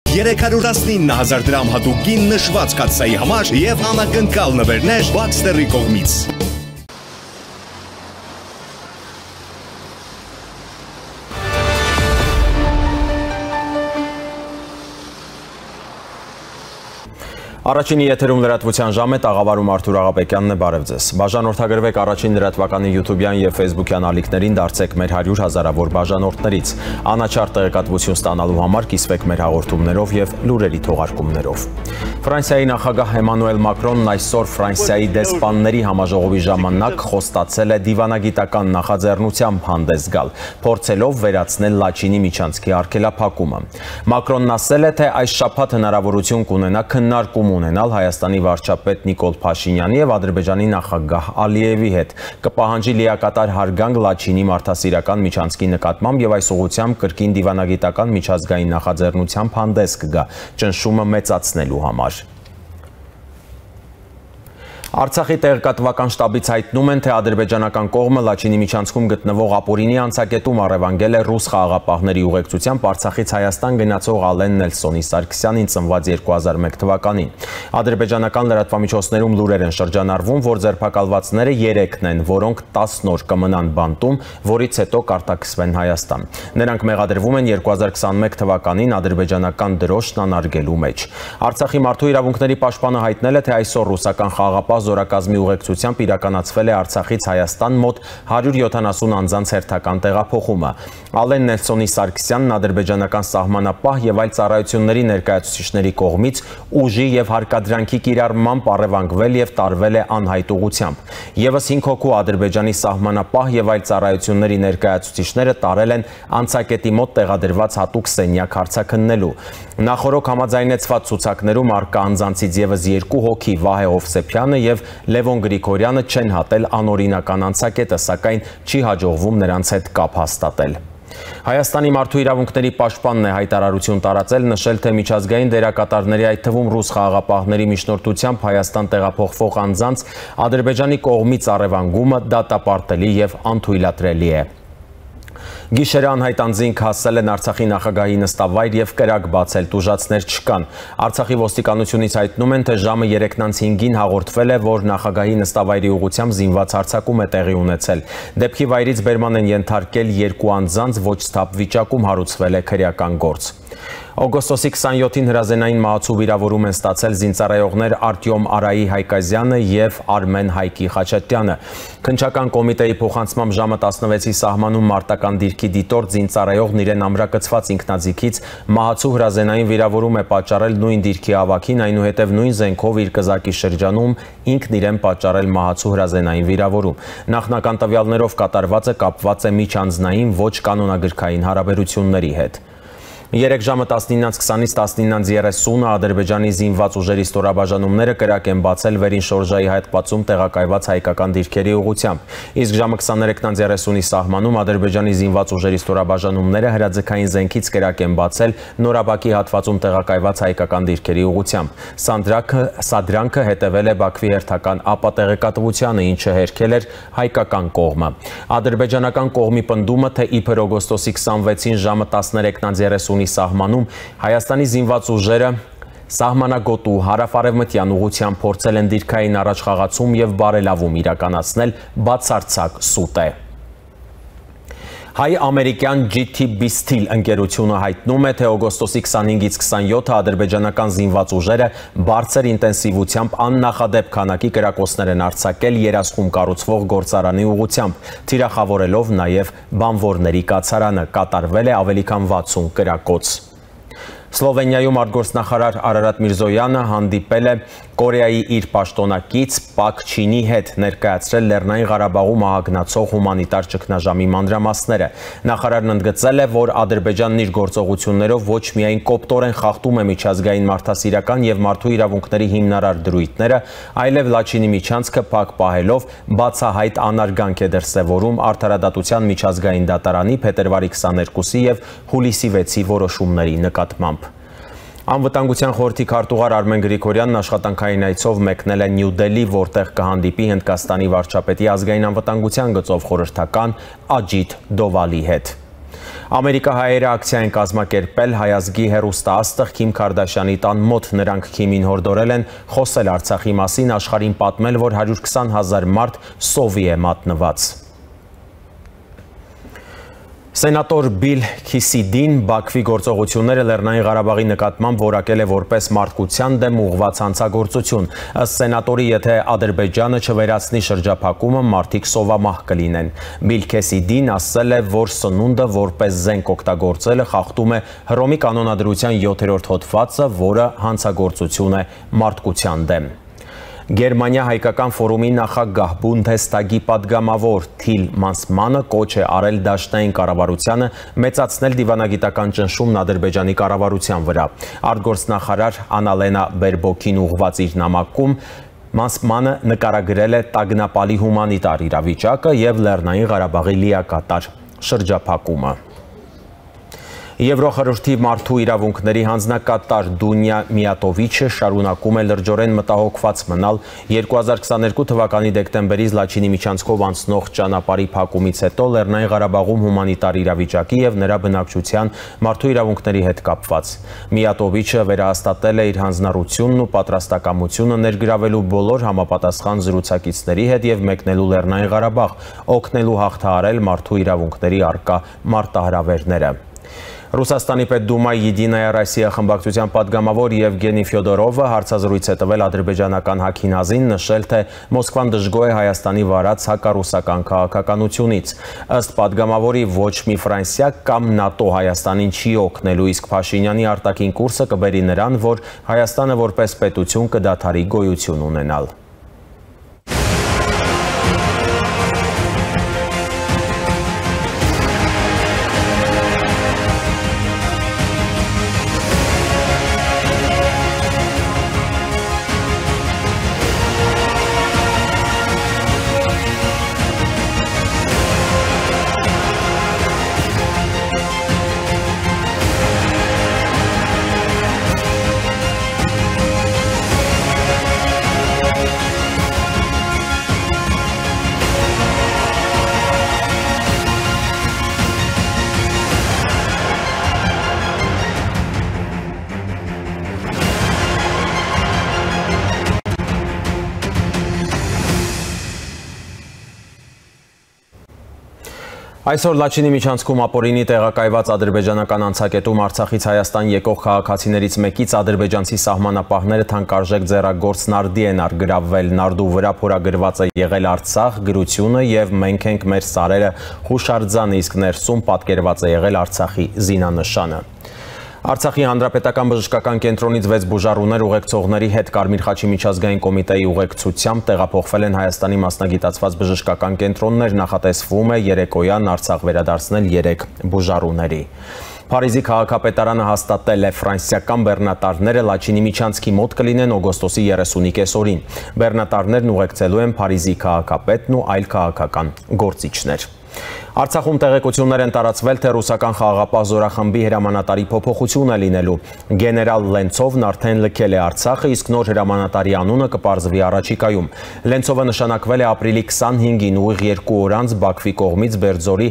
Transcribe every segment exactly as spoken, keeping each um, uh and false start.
երեք հարյուր տասնինը հազար դրամ հատուկ նշված կաթսայի համար եւ անակնկալ նվերներ Baxter-ի կողմից։ Առաջինի եթերում լրատվության ժամ է, տաղավարում Արթուր Աղաբեկյանն է, բարև ձեզ։ Բաժանորդագրվեք առաջին լրատվականի յութուբյան եւ ֆեյսբուքյան ալիքներին, դարձեք մեր հարյուր հազարավոր բաժանորդներից։ Անաչառ տեղեկատվություն ստանալու համար կիսվեք մեր հաղորդումներով եւ լուրերի թողարկումներով։ Ֆրանսիայի նախագահ Էմանուել Մակրոնն այսօր Ֆրանսիայի դեսպանների համաժողովի ժամանակ խոստացել է դիվանագիտական նախաձեռնությամբ հանդես գալ, փորձելով վերացնել Լաչինի միջանցքի արգելափակումը։ Մակրոնն ասել է, թե այս շաբաթ հնարավորություն կունենա քննարկում ունենալ Հայաստանի վարչապետ Նիկոլ Փաշինյանի եւ Ադրբեջանի նախագահ Ալիևի հետ, կպահանջի լիակատար հարգանք Լաչինի մարդասիրական միջանցքի նկատմամբ եւ այս ուղղությամբ կրկին դիվանագիտական միջազգային նախաձեռնությամբ հանդես կգա, ճնշումը մեծացնելու համար։ Արցախի տեղեկատվական շտաբից հայտնում են, թե ադրբեջանական կողմը Լաչինի միջանցքում գտնվող ապօրինի անցակետում առևանգել է ռուս խաղաղապահների ուղեկցությամբ Արցախից Հայաստան գնացող Ալեն Նելսոնի Սարգսյանին ծնված երկու հազար մեկ թվականին։ Ադրբեջանական լրատվամիջոցներում լուրեր են շրջանառվում, որ ձերբակալվածները երեքն են, որոնք տասն օր կմնան բանտում, որից հետո կարտաքսվեն Հայաստան։ Նրանք մեղադրվում են երկու հազար քսանմեկ թվականին ադրբեջանական դրոշն անարգելու մեջ։ Արցախի մարդու իրավունքների պաշտպանը հայտնել է, թե այսօր ռուսական խաղաղապահ զորակազմի ուղեկցությամբ իրականացվել է Արցախից Հայաստան մոտ հարյուր յոթանասուն անձանց հերթական տեղափոխումը։ Ալեն Նելսոնի Սարգսյանն ադրբեջանական սահմանապահ եւ այլ ծառայությունների ներկայացուցիչների կողմից ուժի եւ հարկադրանքի կիրառմամբ առևանգվել եւ տարվել է անհայտ ուղղությամբ։ Եվս հինգ հոգու ադրբեջանի սահմանապահ եւ այլ ծառայությունների ներկայացուցիչները տարել են անցակետի մոտ տեղադրված հատուկ սենյակ հարցաքննելու։ Նախորոք համաձայնեցված ցուցակներում առկա անձանցից եւս երկու հոգի Վահե Հովսեփյանը եւ Լևոն Գրիգորյանը չեն հատել անօրինական անցակետը, սակայն չի հաջողվում նրանց հետ կապ հաստատել։ Հայաստանի մարդու իրավունքների պաշտպանն է հայտարարություն տարածել, նշել, թե միջազգային դերակատարների, այդ թվում ռուս խաղաղապահների միջնորդությամբ Հայաստան տեղափոխվող անձանց Ադրբեջանի կողմից առևանգումը դատապարտելի եւ անթույլատրելի է։ Գիշերը անհայտ անձինք հասել են Արցախի նախագահի նստավայր եւ կրակ բացել, տուժածներ չկան։ Արցախի ոստիկանությունից հայտնում են, թե ժամը երեքն հինգին հաղորդվել է, որ նախագահի նստավայրի ուղղությամբ զինված հարձակում է տեղի ունեցել։ Դեպքի վայրից բերման են ենթարկել երկու անձանց, ոչ սթափ վիճակում հարուցվել է քրեական գործ։ Օգոստոսի քսանյոթին հրազենային մահացու վիրավորում են ստացել զինծառայողներ Արտյոմ Արայի Հայկազյանը եւ Արմեն Հայկի Խաչատյանը։ Քննչական կոմիտեի փոխանցմամբ ժամը տասնվեցի սահմանում մարտական դիրքի դիտորդ զինծառայողն իրեն ամրակցված ինքնաձիգից մահացու հրազենային վիրավորում է պատճառել նույն դիրքի ավագին, այնուհետև նույն զենքով իր կզակի շրջանում ինքն իրեն պատճառել մահացու հրազենային վիրավորում։ Նախնական տվյալներով կատարվածը կապված է միջանձնային ոչ կանոնագրքային հարաբերությունների հետ։ Երեք ժամը տասնինից քսանից տասնինից երեսունը Ադրբեջանի զինված ուժերի ստորաբաժանումները կրակ են բացել վերին շորժայի հատվածում տեղակայված հայկական դիրքերի ուղղությամբ։ Իսկ ժամը քսաներեքից երեսունի սահմանում Ադրբեջանի զինված ուժերի ստորաբաժանումները հրաձգային զենքից կրակ են բացել Նորաբակի հատվածում տեղակայված հայկական դիրքերի ուղղությամբ։ Սադրանքը հետևել է Բաքվի հերթական ապատեղեկատվությանը, ինչը հերքել էր հայկական կողմը։ Ադրբեջանական կողմի պնդումը, թե իբր օգոստոսի քսանվեցին ժամը տասներեքից երեսունի սահմանում Հայաստանի զինված ուժերը սահմանագոտու հարավ-արևմտյան ուղղությամբ փորձել են դիրքային առաջխաղացում եւ բարելավում իրականացնել, բացարձակ սուտ է։ Հայ-ամերիկյան Ջի Թի Բի Steel ընկերությունը հայտնում է, թե օգոստոսի քսանհինգից քսանյոթը ադրբեջանական զինված ուժերը բարձր ինտենսիվությամբ աննախադեպ քանակի կրակոցներ են արձակել երասխում կառուցվող գործարանի ուղղությամբ, թիրախավորելով նաև բանվորների կացարանը, կատարվել է ավելի քան վաթսուն կրակոց։ Սլովենիայում արտգործնախարար Արարատ Միրզոյանը հանդիպել է Կորեայի իր պաշտոնակից Պակ Չինի հետ, ներկայացրել Լեռնային Ղարաբաղում ահագնացող հումանիտար ճգնաժամի մանրամասները։ Նախարարն ընդգծել է, որ Ադրբեջանն իր գործողություններով ոչ միայն կոպտորեն խախտում է միջազգային մարդասիրական եւ մարդու իրավունքների հիմնարար դրույթները, այլև Լաչինի միջանցքը փակ պահելով բացահայտ անարգանք է դրսևորում Արդարադատության միջազգային դատարանի փետրվարի քսաներկուսի եւ հուլիսի վեցի որոշումների նկատմամբ։ Անվտանգության խորհրդի քարտուղար Արմեն Գրիգորյանն աշխատանքային այցով մեկնել է Նյու Դելհի, որտեղ կհանդիպի Հնդկաստանի վարչապետի ազգային անվտանգության գծով խորհրդական Աջիթ Դովալի հետ։ Ամերիկահայերը ակցիա են կազմակերպել հայազգի հեռուստաաստղ Քիմ Քարդաշյանի տան մոտ։ Նրանք Քիմին հորդորել են խոսել Արցախի մասին, աշխարհին պատմել, որ հարյուր քսան հազար մարդ սովի է մատնված։ Սենատոր Բիլ Քիսիդին Բաքվի գործողությունները Լեռնային Ղարաբաղի նկատմամբ որակել է որպես մարդկության դեմ ուղղված հանցագործություն։ Ըստ սենատորի, եթե Ադրբեջանը չվերացնի շրջափակումը, մարդիկ սովամահ կլինեն։ Բիլ Քիսիդին ասել է, որ սնունդը որպես զենք օգտագործելը խախտում է Հռոմի կանոնադրության յոթերորդ հոդվածը, որը հանցագործություն է մարդկության դեմ։ Գերմանիա հայկական ֆորումի նախագահ Բունդեսթագի падգամավոր Թիլ Մանսմանը կոչ է արել դաշնային կառավարությանը մեծացնել դիվանագիտական ճնշումն Ադրբեջանի կառավարության վրա։ Արտգործնախարար Անալենա Բերբոքին ուղղված իր նամակում Մանսմանը նկարագրել է տագնապալի հումանիտար իրավիճակը եւ Լեռնային Ղարաբաղի լիակատար շրջափակումը։ Եվրոխորհրդի մարդու իրավունքների հանձնակատար Դունյա Միատովիչը շարունակում է լրջորեն մտահոգված մնալ երկու հազար քսաներկու թվականի դեկտեմբերից Լաչինի միջանցքով անցնող ճանապարհի փակումից հետո Լեռնային Ղարաբաղում հումանիտար իրավիճակի եւ նրա բնակչության մարդու իրավունքների հետ կապված։ Միատովիչը վերահաստատել է իր հանձնառությունն ու պատրաստակամությունը ներգրավելու բոլոր համապատասխան զրուցակիցների հետ եւ մեկնելու Լեռնային Ղարաբաղ, օգնելու հաղթահարել մարդու իրավունքների առկա մարտահրավերները։ Ռուսաստանի Պետդումայի Եդինայա Ռոսիա խմբակցության падգամավոր Եվգենի Ֆյոդորովը հարցազրույց է տվել ադրբեջանական Հաքինազին, նշել, թե Մոսկվան դժգոհ է Հայաստանի վարած հակառուսական քաղաքականությունից։ Ըստ падգամավորի, ոչ մի Ֆրանսիա կամ ՆԱՏՕ Հայաստանին չի օգնելու, իսկ Փաշինյանի արտաքին կուրսը կբերի նրան, որ Հայաստանը որպես պետություն կդադարի գոյություն ունենալ։ Այսօր Լաչինի միջանցքում ապօրինի տեղակայված ադրբեջանական անցակետում Արցախից Հայաստան եկող քաղաքացիներից մեկից ադրբեջանցի սահմանապահները թանկարժեք ձեռագործ նարդի են արգրավվել։ Նարդու վրա փորագրված է եղել Արցախ գրությունը եւ մենք ենք մեր սարերը հուշարձանը, իսկ ներսում պատկերված է եղել Արցախի զինանշանը։ Արցախի հանրապետական բժշկական կենտրոնից վեց բուժառուներ ուղեկցողների հետ Կարմիր խաչի միջազգային կոմիտեի ուղեկցությամբ տեղափոխվել են Հայաստանի մասնագիտացված բժշկական կենտրոններ, նախատեսվում է երեկոյան Արցախ վերադարձնել երեք բուժառուների։ Փարիզի քաղաքապետարանը հաստատել է ֆրանսիական բեռնատարները Լաչինի միջանցքի մոտ կլինեն օգոստոսի երեսունի կեսօրին։ Բեռնատարներն ուղեկցելու են Փարիզի քաղաքապետն ու այլ քաղաքական գործիչներ։ Արցախում տեղեկություններ են տարածվել, թե ռուսական խաղաղապահ զորախմբի հրամանատարի փոփոխություն է լինելու։ Գեներալ Լենցովն արդեն լքել է Արցախը, իսկ նոր հրամանատարի անունը կպարզվի առաջիկայում։ Լենցովը նշանակվել է ապրիլի քսանհինգին ուղիղ երկու օր անց Բաքվի կողմից Բերձորի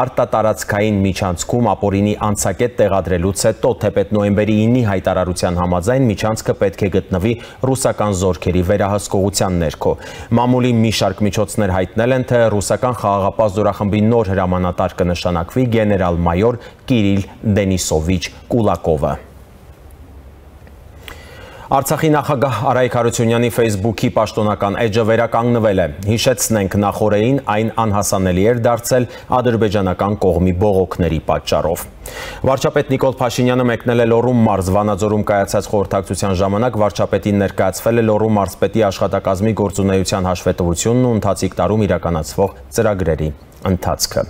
արտատարածքային միջանցքում ապօրինի անցակետ տեղադրելուց հետո, թեպետ նոյեմբերի ինի հայտարարության համաձայն միջանցքը պետք է գտնվի ռուսական զորքերի վերահսկողության ներքո։ Մամուլի մի շարք միջոցներ հայտնել են, թե ռուսական խաղաղապահ զորախմբի նոր հրամանատար կնշանակվի գեներալ-մայոր Կիրիլ Դենիսովիչ Կուլակովը։ Արցախի նախագահ Արայք Հարությունյանի Facebook-ի պաշտոնական էջը վերականգնվել է։ Հիշեցնենք, նախորդին այն անհասանելի էր դարձել ադրբեջանական կողմի բողոքների պատճառով։ Վարչապետ Նիկոլ Փաշինյանը մեկնել է Լոռու մարզ, Վանաձորում կայացած խորհրդակցության ժամանակ վարչապետին ներկայացվել է Լոռու մարզպետի աշխատակազմի գործունեության հաշվետվությունն ու ընթացիկ տարում իրականացվող ծրագրերի ընթացքը։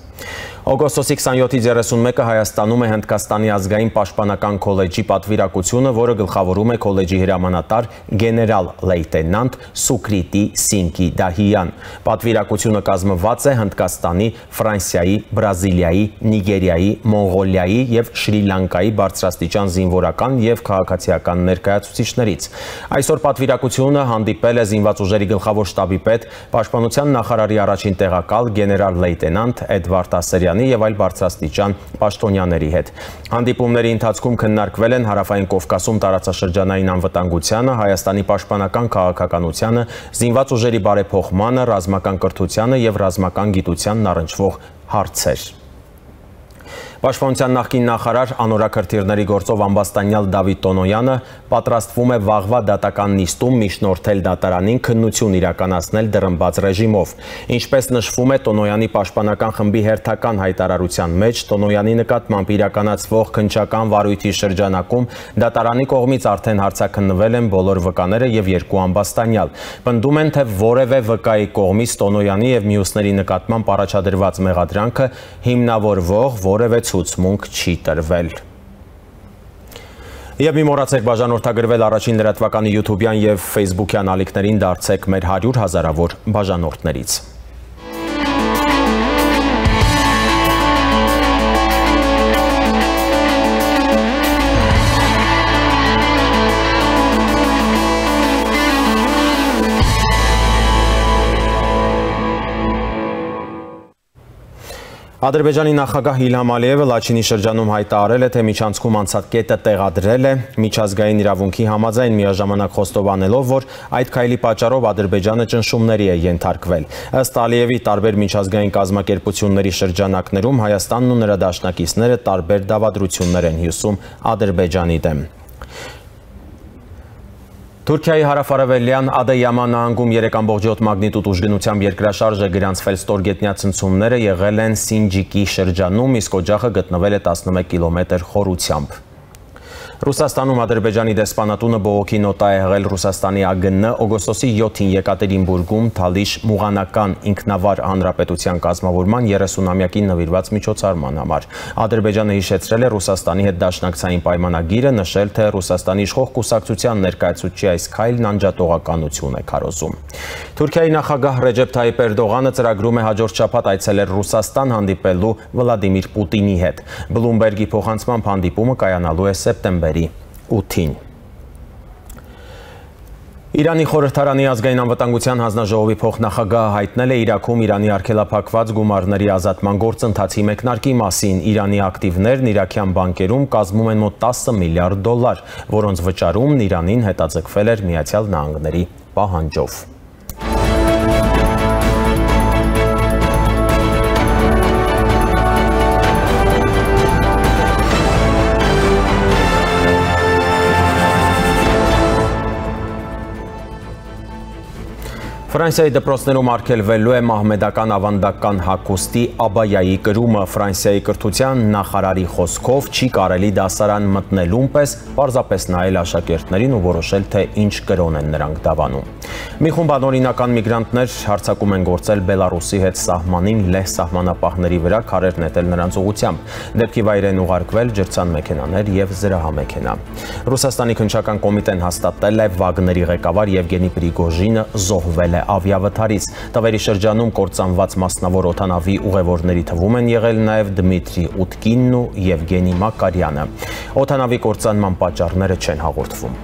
Օգոստոսի քսանյոթից երեսունմեկը Հայաստանում է Հնդկաստանի ազգային պաշտպանական քոլեջի պատվիրակությունը, որը գլխավորում է քոլեջի հրամանատար գեներալ լեյտենանտ Սուկրիտի Սինկի Դահիյան։ Պատվիրակությունը կազմված է Հնդկաստանի, Ֆրանսիայի, Բրազիլիայի, Նիգերիայի, Մոնղոլիայի եւ Շրի Լանկայի բարձրաստիճան զինվորական եւ քաղաքացիական ներկայացուցիչներից։ Այսօր պատվիրակությունը հանդիպել է զինված ուժերի գլխավոր շտաբի պետ, պաշտպանության նախարարի առաջին տեղակալ գեներալ լեյտենանտ Էդվարդ Ասերյան Միրզոյանի եւ այլ բարձրաստիճան պաշտոնյաների հետ։ Հանդիպումների ընթացքում քննարկվել են Հարավային Կովկասում տարածաշրջանային անվտանգությանը, Հայաստանի պաշտպանական քաղաքականությանը, զինված ուժերի բարեփոխմանը, ռազմական կրթությանը եւ ռազմական գիտությանն առնչվող հարցեր։ Պաշտպանության նախկին նախարար անորակրթիռների գործով ամբաստանյալ Դավիթ Տոնոյանը պատրաստվում է վաղվա դատական նիստում միջնորդել դատարանին քննություն իրականացնել դռնբաց ռեժիմով։ Ինչպես նշվում է Տոնոյանի պաշտպանական խմբի հերթական հայտարարության մեջ, Տոնոյանի նկատմամբ իրականացվող քննչական վարույթի շրջանակում դատարանի կողմից արդեն հարցաքննվել են բոլոր վկաները եւ երկու ամբաստանյալ։ Պնդում են, թե որևէ վկայի կողմից Տոնոյանի եւ մյուսների նկատմամբ առաջադրված մեղադրանքը հիմնավորվող որևէ ցուցմունք չի տրվել։ Եվ մի մոռացեք բաժանորդագրվել առաջին լրատվականի յութուբյան եւ ֆեյսբուքյան ալիքներին, դարձեք մեր հարյուր հազարավոր բաժանորդներից։ Ադրբեջանի նախագահ Իլհամ Ալիևը Լաչինի շրջանում հայտարարել է, թե միջանցքում անցած կետը տեղադրել է միջազգային իրավունքի համաձայն, միաժամանակ խոստովանելով, որ այդ քայլի պատճառով Ադրբեջանը ճնշումների է ենթարկվել։ Ըստ Ալիևի, տարբեր միջազգային կազմակերպությունների շրջանակներում Հայաստանն ու նրա դաշնակիցները տարբեր դավադրություններ են հյուսում Ադրբեջանի դեմ։ Թուրքիայի հարավարևելյան Ադեյաման նահանգում երեք ամբողջ յոթ մագնիտուդ ուժգնությամբ երկրաշարժ է գրանցվել, ստորգետնյա ցնցումները եղել են Սինջիկի շրջանում, իսկ օջախը գտնվել է տասնմեկ կիլոմետր խորությամբ։ Ռուսաստանում Ադրբեջանի դեսպանատունը բողոքի նոտա է եղել Ռուսաստանի ԱԳՆ օգոստոսի յոթին Եկատերինբուրգում Թալիշ մուղանական ինքնավար հանրապետության կազմավորման երեսունամյակին նվիրված միջոցառման համար։ Ադրբեջանը հիշեցրել է Ռուսաստանի հետ դաշնակցային պայմանագիրը, նշել, թե Ռուսաստանի իշխող կուսակցության ներկայացուցչի այս քայլն անջատողականություն է քարոզում։ Թուրքիայի նախագահ Ռեջեփ Թայիփ Էրդողանը ծրագրում է հաջորդ շաբաթ այցելել Ռուսաստան հանդիպելու Վլադիմիր Պուտինի հետ։ Բլումբերգի փոխանցմամբ հանդիպումը կայանալու է սեպտեմբերի ութին։ Իրանի խորհրդարանի ազգային անվտանգության հանձնաժողովի փոխնախագահը հայտնել է Իրաքում Իրանի արգելափակված գումարների ազատման գործընթացի մեկնարկի մասին։ Իրանի ակտիվներն իրաքյան բանկերում կազմում են մոտ տասը միլիարդ դոլար, որոնց վճարումն Իրանին հետաձգվել էր Միացյալ Նահանգների պահանջով։ Ֆրանսիայի դպրոցներում արգելվելու է մահմեդական ավանդական հագուստի աբայայի կրումը։ Ֆրանսիայի կրթության նախարարի խոսքով չի կարելի դասարան մտնելուն պես պարզապես նայել աշակերտներին ու որոշել, թե ինչ կրոն են նրանք դավանում։ Մի խումբ անօրինական միգրանտներ հարձակում են գործել Բելարուսի հետ սահմանին լեհ սահմանապահների վրա, քարեր նետել նրանց ուղղությամբ։ Դեպքի վայր են ուղարկվել ջրցան մեքենաներ եւ զրահամեքենա։ Ռուսաստանի քննչական կոմիտեն հաստատել է Վագների ղեկավար Եվգենի Պրիգոժինը զոհվել է ավիավթարից։ Տվերի շրջանում կործանված մասնավոր օդանավի ուղևորների թվում են եղել նաև Դմիտրի Ուտկինն ու Եվգենի Մակարյանը։ Օդանավի կործանման պատճառները չեն հաղորդվում։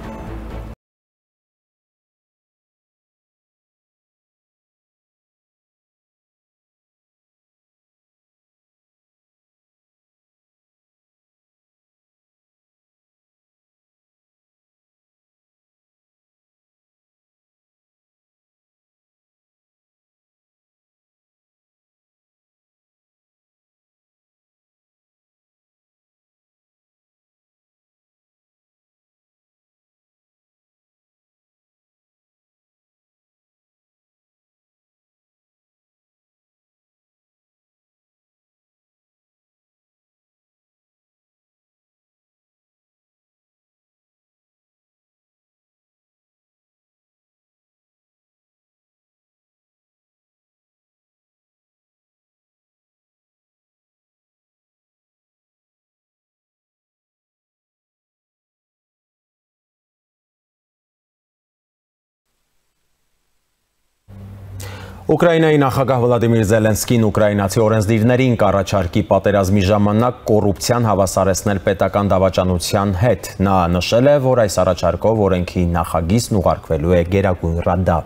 Ուկրաինայի նախագահ Վլադիմիր Զելենսկին ուկրաինացի օրենսդիրներին կառաջարկի պատերազմի ժամանակ կոռուպցիան հավասարեցնել պետական դավաճանության հետ։ Նա նշել է, որ այս առաջարկով օրենքի նախագիծն ուղարկվելու է Գերագույն Ռադա։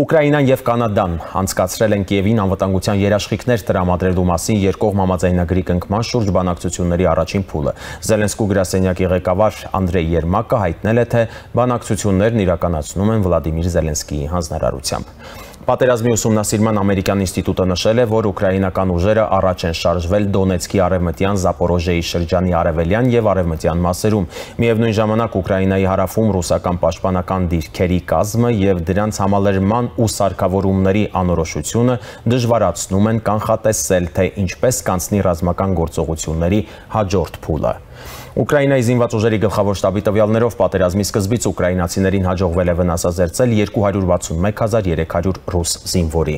Ուկրաինան եւ Կանադան անցկացրել են Կիևին անվտանգության երաշխիքներ տրամադրելու մասին երկկողմ համաձայնագրի կնքման շուրջ բանակցությունների առաջին փուլը։ Զելենսկու գրասենյակի ղեկավար Անդրեյ Երմակը հայտնել է, թե բանակցություններն իրականացնում են Վլադիմիր Զելենսկիի հանձնարարությամբ։ Պատերազմի ուսումնասիրման ամերիկյան ինստիտուտը նշել է, որ ուկրաինական ուժերը առաջ են շարժվել Դոնեցկի արևմտյան Զապորոժիեի շրջանի արևելյան եւ արևմտյան մասերում։ Միևնույն ժամանակ Ուկրաինայի հարավում ռուսական պաշտպանական դիրքերի կազմը եւ դրանց համալրման ու սարքավորումների անորոշությունը դժվարացնում են կանխատեսել, թե ինչպես կանցնի ռազմական գործողությունների հաջորդ փուլը։ Ուկրաինայի զինված ուժերի գլխավոր շտաբի տվյալներով պատերազմի սկզբից ուկրաինացիներին հաջողվել է վնասազերծել երկու հարյուր վաթսունմեկ հազար երեք հարյուր ռուս զինվորի։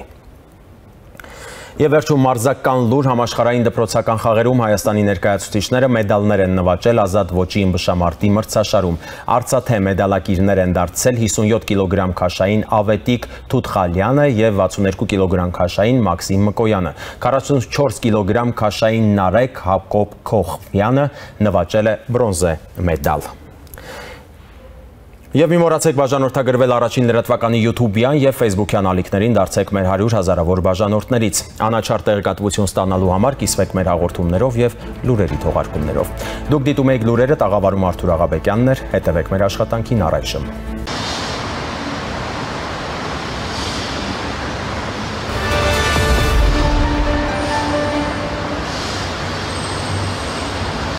Եվ վերջում մարզական լուր համաշխարհային դպրոցական խաղերում Հայաստանի ներկայացուցիչները մեդալներ են նվաճել ազատ ոճի ըմբշամարտի մրցաշարում։ Արծաթե մեդալակիրներ են դարձել հիսունյոթ կիլոգրամ քաշային Ավետիք Թութխալյանը եւ վաթսունեքու կիլոգրամ քաշային Մաքսիմ Մկոյանը։ քառասունչորս կիլոգրամ քաշային Նարեկ Հակոբ Քոխյանը նվաճել է բրոնզե մեդալ։ Եվ մի մոռացեք բաժանորդագրվել առաջին լրատվականի յութուբյան եւ ֆեյսբուքյան ալիքներին, դարձեք մեր հարյուր հազարավոր բաժանորդներից։ Անաչառ տեղեկատվություն ստանալու համար կիսվեք մեր հաղորդումներով եւ լուրերի թողարկումներով։ Դուք դիտում եք լուրերը, տաղավարում Արթուր Աղաբեկյանն էր, հետևեք մեր աշխատանքին առայժմ։